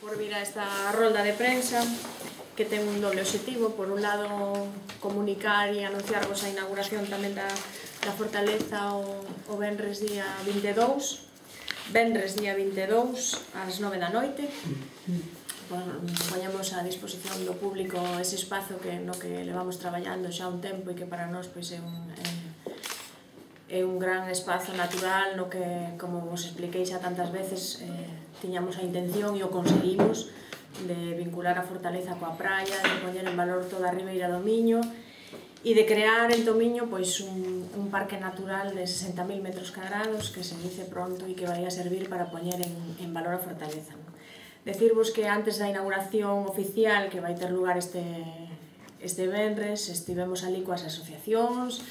por vir a esta rolda de prensa que ten un doble obxectivo. Por un lado, comunicar e anunciarvos a inauguración tamén da Fortaleza o venres día 22 ás 9 da noite. Poñemos a disposición do público ese espazo no que levamos traballando xa un tempo e que para nós é un gran espazo natural no que, como vos expliquei xa tantas veces, tiñamos a intención e o conseguimos de vincular a Fortaleza coa praia, de poñer en valor toda a Ribeira do Miño e de crear en Tomiño un parque natural de 60.000 metros cuadrados que se dice pronto e que vai a servir para poñer en valor a Fortaleza. Decirvos que antes da inauguración oficial que vai ter lugar este venres, estivemos ali coas asociacións,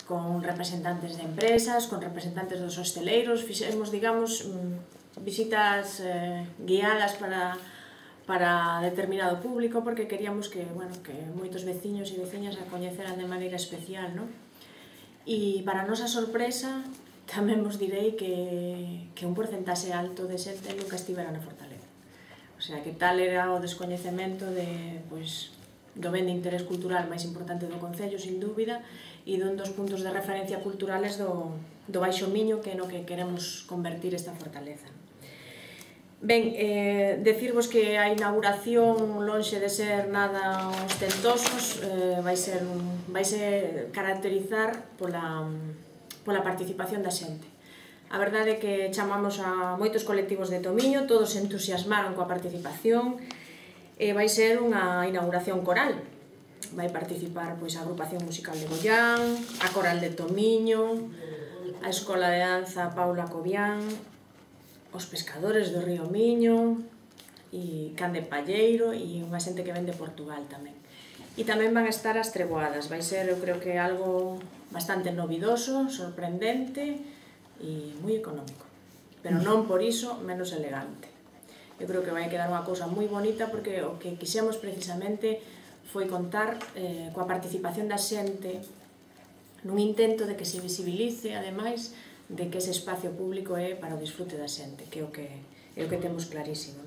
con representantes de empresas, con representantes dos hosteleiros, fixemos, digamos, visitas guiadas para determinado público, porque queríamos que moitos veciños e veciñas a coñeceran de maneira especial, non? E para a nosa sorpresa, tamén vos direi que un porcentaxe alto de xente nunca estivera na Fortaleza. O sea, que tal era o descoñecemento do ben de interés cultural máis importante do Concello, sin dúbida, e dun dos puntos de referencia culturales do Baixo Miño, que é no que queremos convertir esta fortaleza. Ben, decirvos que a inauguración, lonxe de ser nada ostentosos, vai caracterizar pola participación da xente. A verdade é que chamamos a moitos colectivos de Tomiño, todos se entusiasmaron coa participación, e vai ser unha inauguración coral. Vai participar a Agrupación Musical de Bollán, a Coral de Tomiño, a Escola de Danza Paula Cobián, os pescadores do Río Miño, e Can de Palleiro, e unha xente que ven de Portugal tamén. E tamén van a estar as treboadas. Vai ser, eu creo que algo bastante novidoso, sorprendente e moi económico. Pero non por iso menos elegante. Eu creo que vai quedar unha cousa moi bonita, porque o que quixemos precisamente foi contar coa participación da xente nun intento de que se visibilice, ademais, de que ese espacio público é para o disfrute da xente, que é o que temos clarísimo.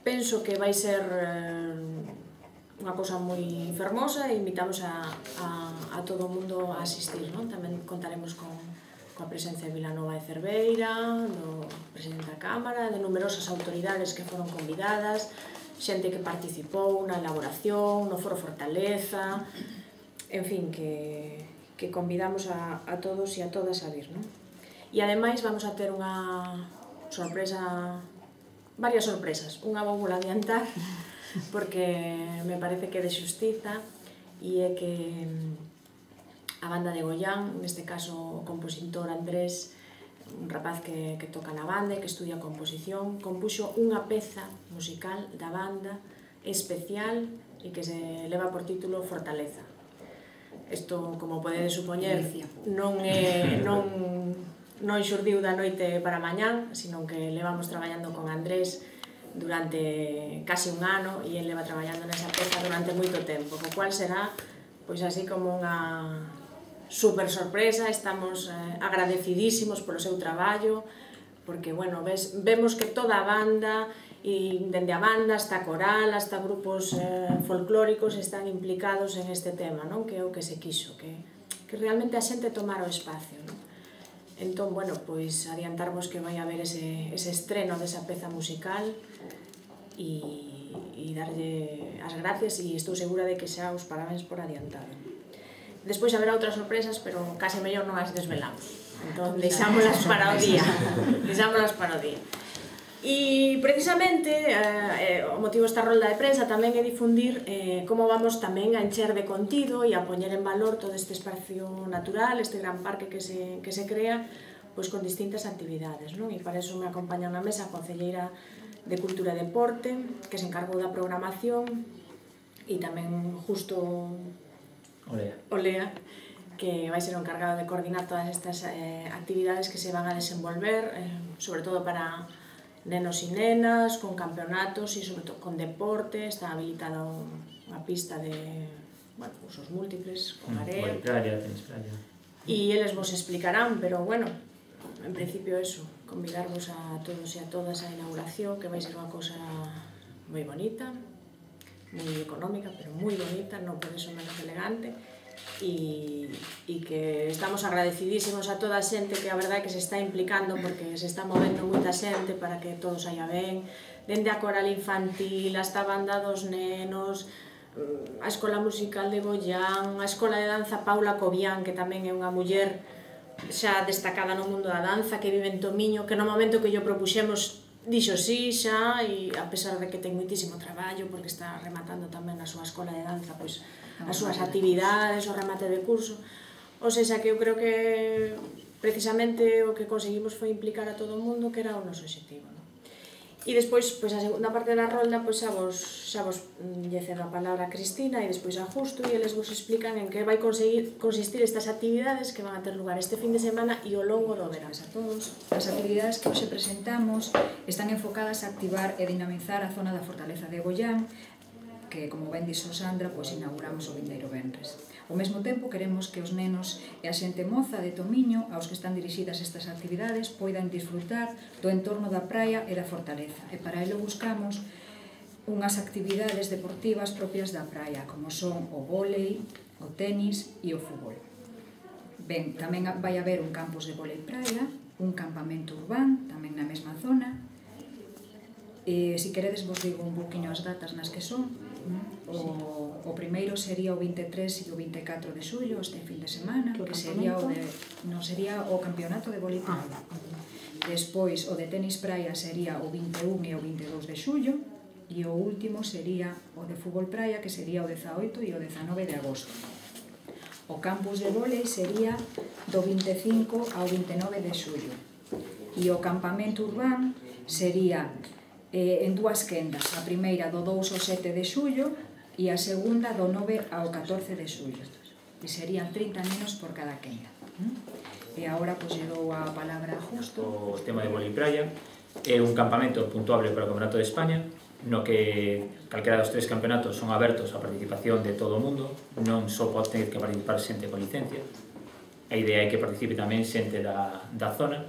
Penso que vai ser unha cousa moi fermosa e invitamos a todo o mundo a asistir. Tamén contaremos coa presencia de Vilanova de Cerveira, do presidente da Cámara, de numerosas autoridades que foron convidadas, xente que participou na elaboración, no Foro Fortaleza, en fin, que convidamos a todos e a todas a vir. E ademais vamos a ter unha sorpresa, varias sorpresas. Unha vou adiantar, porque me parece que é de xustiza, e é que a banda de Goián, neste caso o compositor Andrés, un rapaz que toca na banda e que estudia composición, compuxo unha peza musical da banda especial e que se leva por título Fortaleza. Isto, como podedes supoñer, non xurdiu da noite para mañán, sino que levamos traballando con Andrés durante casi un ano, e ele leva traballando nesa peza durante moito tempo, co cual será así como unha super sorpresa. Estamos agradecidísimos polo seu traballo, porque vemos que toda a banda, e dende a banda hasta a coral, hasta grupos folclóricos, están implicados en este tema, que é o que se quixo, que realmente a xente tomara o espacio. Entón, adiantarvos que vai haber ese estreno desa peza musical e darlle as gracias, e estou segura de que xa os parabéns por adiantado. Despois haberá outras sorpresas, pero case mellor non as desvelamos. Entón, deixámolas para o día. E, precisamente, o motivo desta rolda de prensa tamén é difundir como vamos tamén a encher de contido e a poñer en valor todo este espacio natural, este gran parque que se crea, con distintas actividades. E para iso me acompaña na mesa a concelleira de Cultura e Deporte, que se encargou da programación, e tamén justo Olea, que vai ser o encargado de coordinar todas estas actividades que se van a desenvolver, sobre todo para nenos e nenas, con campeonatos e sobre todo con deporte. Está habilitada unha pista de usos múltiples, con area. E eles vos explicarán, pero en principio eso, convidarvos a todos e a todas á inauguración, que vai ser unha cosa moi bonita, moi económica, pero moi bonita, non por eso menos elegante, e que estamos agradecidísimos a toda a xente que a verdade que se está implicando, porque se está movendo moita xente para que todo saia ben, dende a coral infantil, hasta a banda dos nenos, a escola musical de Bollán, a escola de danza Paula Cobián, que tamén é unha muller xa destacada no mundo da danza, que vive en Tomiño, que no momento que yo propuxemos dixo sí xa, e a pesar de que ten moitísimo traballo, porque está rematando tamén a súa escola de danza, pois as súas actividades, o remate de curso, ou seja, que eu creo que precisamente o que conseguimos foi implicar a todo o mundo, que era o noso objetivo. E despois, pois a segunda parte da rolda, pois xa vos lle cedo a palabra a Cristina e despois a Justo, e eles vos explican en que vai consistir estas actividades que van a ter lugar este fin de semana e ao longo do verán. A todos, as actividades que hoxe presentamos están enfocadas a activar e dinamizar a zona da Fortaleza de Bollán, que, como ben dixo Sandra, pois inauguramos o vindeiro venres. Ao mesmo tempo, queremos que os nenos e a xente moza de Tomiño, aos que están dirixidas estas actividades, poidan disfrutar do entorno da praia e da fortaleza. E para ello buscamos unhas actividades deportivas propias da praia, como son o vólei, o tenis e o fútbol. Ben, tamén vai haber un campus de vólei praia, un campamento urbán, tamén na mesma zona. Se queredes vos digo un pouquinho as datas nas que son. O primeiro sería o 23 e o 24 de xullo, este fin de semana, que sería o campeonato de vólei praia. Despois, o de tenis praia sería o 21 e o 22 de xullo, e o último sería o de fútbol praia, que sería o 18 e o 19 de agosto. O campus de vólei sería do 25 ao 29 de xullo, e o campamento urbán sería en dúas quendas, a primeira do 2 ao 7 de xullo e a segunda do 9 ao 14 de xullo, e serían 30 nenos por cada quenda. E agora pois lle dou a palabra a Justo. O tema de vólei praia é un campamento puntuable para o Campeonato de España, no que calquera dos tres campeonatos son abertos á participación de todo o mundo, non só pode ter que participar xente con licencia. A idea é que participe tamén xente da zona,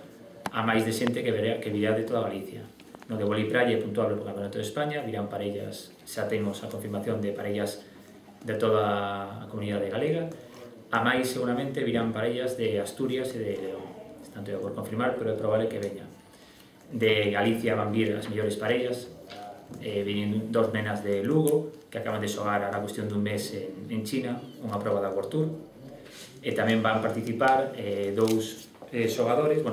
a máis de xente que virá de toda Galicia. No de vólei praia é puntuable para o Campeonato de España, virán parellas, xa temos a confirmación de parellas de toda a comunidade galega, a máis seguramente virán parellas de Asturias e de León, están todo por confirmar, pero é probable que veña. De Galicia van vir as mellores parellas, viñen dos nenas de Lugo, que acaban de xogar a cuestión dun mes en China, unha proba da World Tour, e tamén van participar dous xogadores,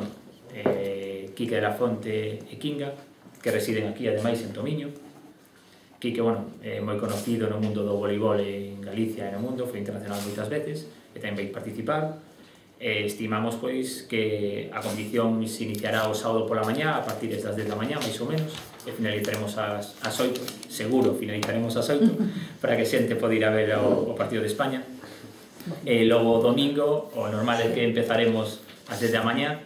Quique de la Fonte e Kinga, que residen aquí, ademais, en Tomiño. Quique, é moi conocido no mundo do voleibol en Galicia e no mundo, foi internacional moitas veces, e tamén vai participar. Estimamos, pois, que a competición se iniciará o sábado pola mañá, a partir das 10 da mañá, máis ou menos, e finalizaremos ás 8, seguro finalizaremos ás 8, para que xente pode ir a ver o partido de España. E logo o domingo, o normal é que empezaremos ás 10 da mañá,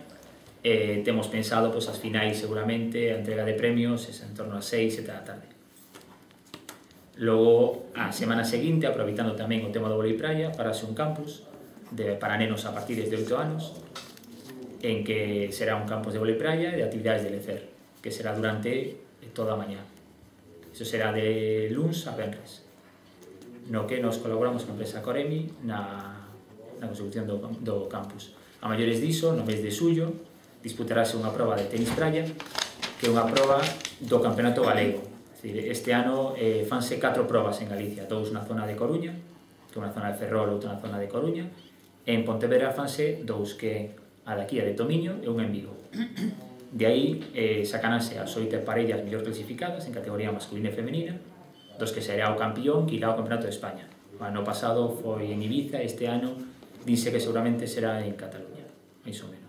temos pensado as finais seguramente, a entrega de premios en torno a 6, 7 da tarde. Logo, a semana seguinte, aproveitando tamén o tema do vólei praia, farase un campus para nenos a partir de 8 anos, en que será un campus de vólei praia e de actividades de lecer, que será durante toda a mañá. Iso será de luns a venres, no que nos colaboramos con a empresa Coremi na consecución do campus. A maiores diso, no mes de xullo, disputarase unha proba de tenis praia, que é unha proba do Campeonato Galego. Este ano fanse 4 probas en Galicia, 2 na zona de Coruña, que é unha zona de Ferrol, outra na zona de Coruña, e en Pontevedra fanse 2, que a daqui a de Tomiño e unha en Vigo. De aí sacanase as 8 parellas mellor clasificadas en categoría masculina e femenina, dos que será o campión que irá ao Campeonato de España. O ano pasado foi en Ibiza, este ano dice que seguramente será en Cataluña, máis ou menos.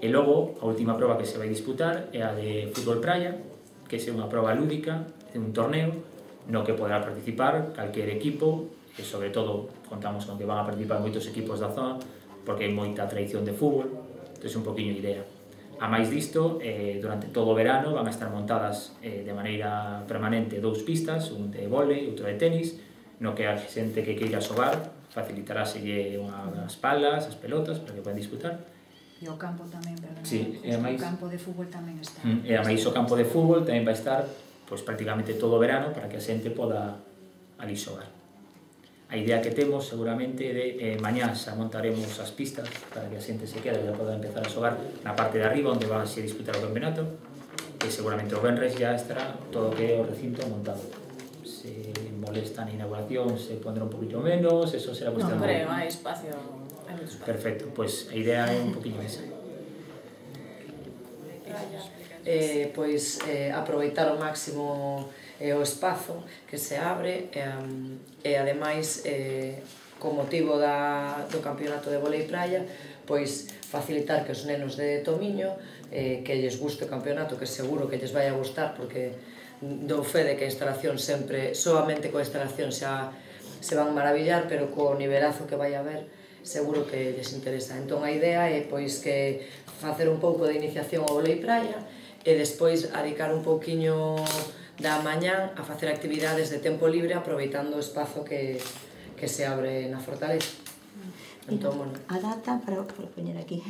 E logo, a última proba que se vai disputar é a de fútbol praia, que é unha proba lúdica de un torneo no que poderá participar calquer equipo, e sobre todo contamos con que van a participar moitos equipos da zona, porque hai moita tradición de fútbol, entón é un poquinho idea. A máis disto, durante todo o verano van a estar montadas de maneira permanente 2 pistas, un de vólei, outro de tenis, no que a xente que queira xogar facilitaráselle unhas palas, as pelotas, para que poden disputar. E o campo tamén, perdón, o campo de fútbol tamén está. E a máis o campo de fútbol tamén vai estar prácticamente todo o verano para que a xente poda ali xogar. A idea que temos seguramente de mañá xa montaremos as pistas para que a xente se quede e poda empezar a xogar na parte de arriba onde van a disputar o campeonato, e seguramente o venres já estará todo o que é o recinto montado. Se molesta na inauguración se pondrá un poquinho menos, eso será cuestión de... Non creo, hai espacio, hai moito espacio. Perfecto, pois a idea é un poquinho esa. Pois aproveitar ao máximo o espazo que se abre e ademais con motivo do campeonato de volei praia pois facilitar que os nenos de Tomiño que lles guste o campeonato, que seguro que lles vai a gustar porque dou fe de que a instalación sempre, soamente coa instalación xa se van maravillar, pero co nivelazo que vai haber seguro que lles interesa. Entón a idea é pois que facer un pouco de iniciación ao volei praia e despois dedicar un pouquiño da mañá a facer actividades de tempo libre aproveitando o espazo que se abre na fortaleza. Entón, A data para poñer aquí.